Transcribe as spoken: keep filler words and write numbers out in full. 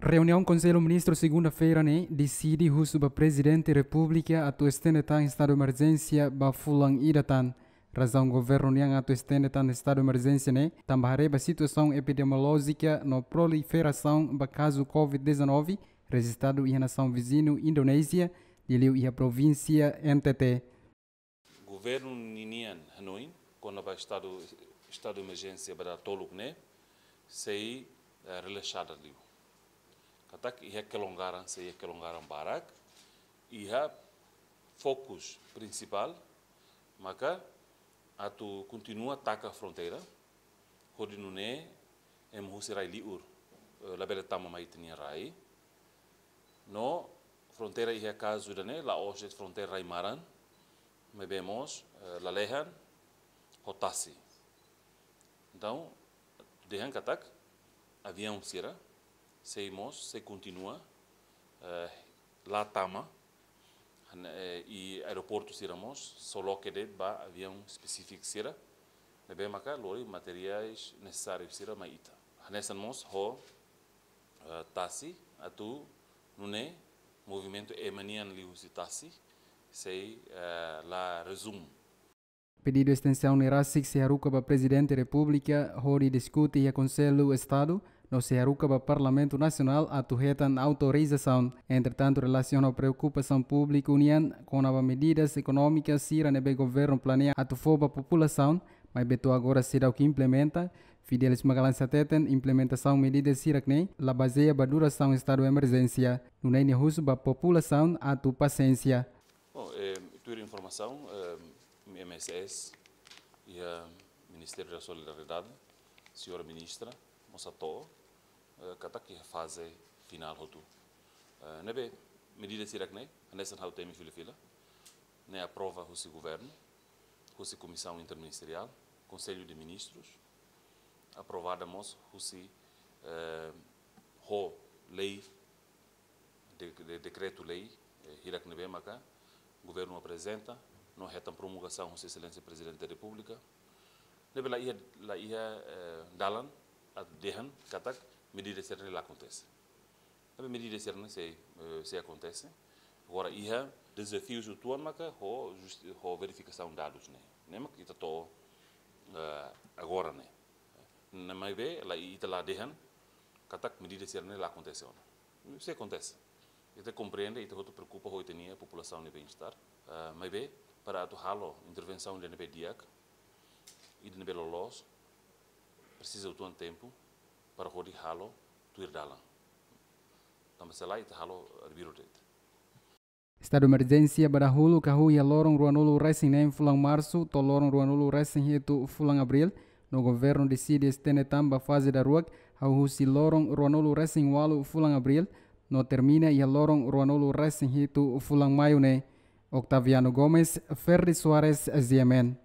Reuniaun Konsellu Ministru segunda-feira ne'e deside husu ba Prezidente Repúblika atu estende tan estadu emerjénsia ba fulan ida tan. Razaun governu nian atu estende tan estadu emerjénsia ne'e tanba haree ba situasaun epidemiolójika no proliferasaun ba kazu covid dezanove rejistadu iha nasaun viziñu Indonézia, liuliu iha provínsia N T T. Governu ninian hanoin kona-ba estadu, estadu emerjénsia ba dala toluk ne'e sei, eh, relaxada liu. Katak iha kelonggaran, sei iha kelonggaran barak, iha fokus prinsipál maka atu kontinua taka fronteira, hodi nune'e ema husi rai liur, eh, labele tama mai ita-nia rai. No fronteira iha kazu ida-ne'e la'ós de'it fronteira rai maran, maibé mós, eh, lalehan ho tasi. Entaun, dehan katak aviaun sira sei mós, sei kontinua, eh, la tama, han-, eh, i aeroportu sira mós só loke de'it ba aviaun espesífiku sira, ne'ebé maka lori materiais nesesáriu sira mai ita. Hanesan mós ho, eh, tasi, atu nune'e movimentu ema nian liuhusi tasi sei, eh, la rezumu. Pedidu estensaun ne'e rasik sei haruka ba Prezidente Repúblika hodi diskute iha Konsellu Estadu, no sei haruka ba Parlamentu Nasionál atu hetan autorizasaun. Entretantu, relasiona ho preokupasaun públiku nian kona-ba medidas ekonómikas sira ne'ebé governu planeia atu fó ba populasaun, maibé to'o agora seidauk implementa, Fidelis Magalhães hateten implementasaun medidas hirak-ne'e la bazeia ba durasaun estadu emerjénsia. Nune'e nia husu ba populasaun atu pasiénsia. Bom, eh, tuir informasaun, eh, M S S iha Ministériu da Solidariedade, señora ministra mós hato'o, eh, katak iha faze finál hotu. Eh, ne'ebé medidas hirak-ne'e, hanesan ha'u temi fila-fila, ne'e aprova husi governu, husi Komisaun Interministeriál, Konsellu de Ministrus, aprovada mós husi, eh, ho lei, de, de, dekretu-lei, eh, hirak ne'ebé maka governu aprezenta, no hetan promulgasaun husi Exelénsia Prezidente da Repúblika. Ne'ebé la iha, la iha, eh, dalan atu dehan katak medida sira-ne'e la akontese. Tapi medida sira-ne'e sei, eh, sei akontese. Agora iha dezafius uitoan maka ho justi-, ho verifikasaun dadus ne'e. Ne'e mak ita to'o, eh, agora ne'e. Ne'e maibé la ita la dehan katak medida sira-ne'e la akontese ona. Sei akontese. Ita komprende, ita hotu preokupa ho ita-nia populasaun nia bem-estar. Eh, maibé para atu halo intervensaun ida ne'ebé di'ak, ida ne'ebé loloos, presiza uitoan tempu para hodi halo tuir dalan. Tanba se lae ita halo arbiru de'it. Estadu emerjénsia ba dahuluk hahú iha loron ruanulu resin neen fulan Marsu to'o loron ruanulu resin hitu fulan Abríl, no governu deside estende tan ba faze daruak hahú husi loron ruanulu resin ualu fulan Abríl, no termina iha loron ruanulu resin hitu fulan Maiu ne'e. Octaviano Gomes, Ferdi Soares, Z M N.